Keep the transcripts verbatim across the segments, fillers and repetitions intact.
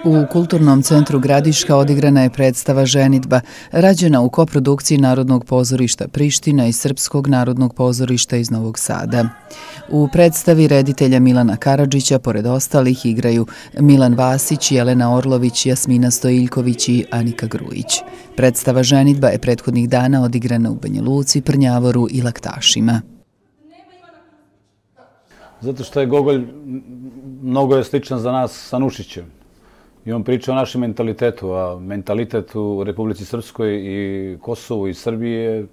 U Kulturnom centru Gradiška odigrana je predstava Ženidba, rađena u koprodukciji Narodnog pozorišta Priština i Srpskog narodnog pozorišta iz Novog Sada. U predstavi reditelja Milana Karadžića, pored ostalih, igraju Milan Vasić, Jelena Orlović, Jasmina Stojiljković i Anika Grujić. Predstava Ženidba je prethodnih dana odigrana u Banja Luci, Prnjavoru i Laktašima. Zato što je Gogolj mnogo je sličan za nas sa Nušićem. I on priča o našem mentalitetu, a mentalitet u Republici Srpskoj i Kosovu i Srbiji je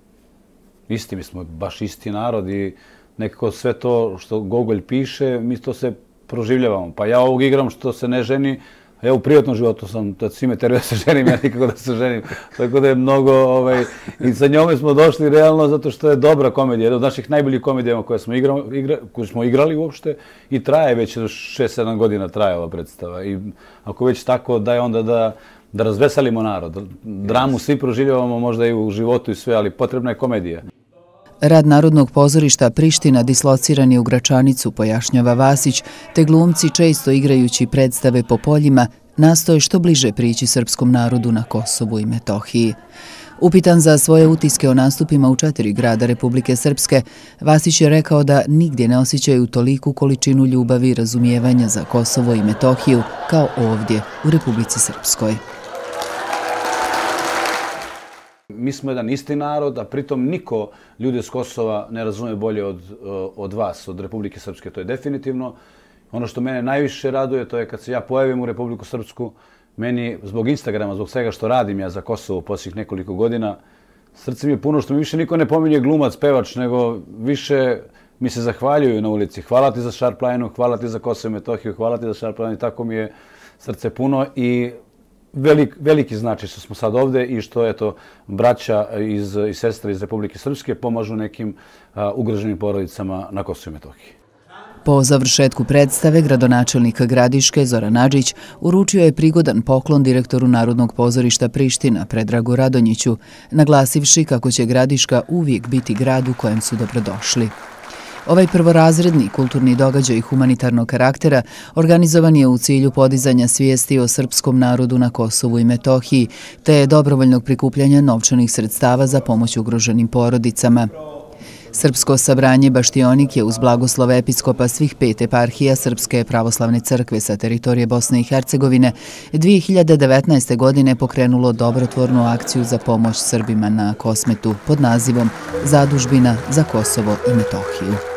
isti. Mi smo baš isti narod i nekako sve to što Gogolj piše, mi to se proživljavamo. Pa ja ovog igram što se ne ženi, a ja u privatnom životu sam, da svi me teraju da se ženim, ja nikako da se ženim. Tako da je mnogo, ovaj, i sa njome smo došli realno zato što je dobra komedija. Jedna od naših najboljih komedija koje smo, igra, igra, koje smo igrali uopšte i traje već šest sedam godina traje ova predstava. I ako već tako da je onda da, da razveselimo narod. Dramu svi proživljavamo možda i u životu i sve, ali potrebna je komedija. Rad Narodnog pozorišta Priština dislociran je u Gračanicu, pojašnjava Vasić, te glumci često igrajući predstave po poljima nastoje što bliže prići srpskom narodu na Kosovu i Metohiji. Upitan za svoje utiske o nastupima u četiri grada Republike Srpske, Vasić je rekao da nigdje ne osjećaju toliku količinu ljubavi i razumijevanja za Kosovo i Metohiju kao ovdje u Republici Srpskoj. Mi smo jedan isti narod, a pritom niko ljude s Kosova ne razume bolje od, od vas, od Republike Srpske. To je definitivno. Ono što mene najviše raduje, to je kad se ja pojavim u Republiku Srpsku, meni zbog Instagrama, zbog svega što radim ja za Kosovo posljednjih nekoliko godina, srce mi je puno što mi više niko ne pominje glumac, pevač, nego više mi se zahvaljuju na ulici. Hvala ti za Šarplajnu, hvala ti za Kosovo i Metohiju, hvala ti za Šarplajnu. Tako mi je srce puno i Velik, veliki znači što smo sad ovde i što eto, braća iz, i sestre iz Republike Srpske pomažu nekim a, ugroženim porodicama na Kosovu i Metohiji. Po završetku predstave, gradonačelnik Gradiške Zoran Adžić uručio je prigodan poklon direktoru Narodnog pozorišta Priština Predragu Radonjiću, naglasivši kako će Gradiška uvijek biti grad u kojem su dobrodošli. Ovaj prvorazredni kulturni događaj humanitarnog karaktera organizovan je u cilju podizanja svijesti o srpskom narodu na Kosovu i Metohiji, te dobrovoljnog prikupljanja novčanih sredstava za pomoć ugroženim porodicama. Srpsko sabranje Baštionik je uz blagoslov episkopa svih pet eparhija Srpske pravoslavne crkve sa teritorije Bosne i Hercegovine dvije hiljade devetnaeste. godine pokrenulo dobrotvornu akciju za pomoć Srbima na Kosmetu pod nazivom Zadužbina za Kosovo i Metohiju.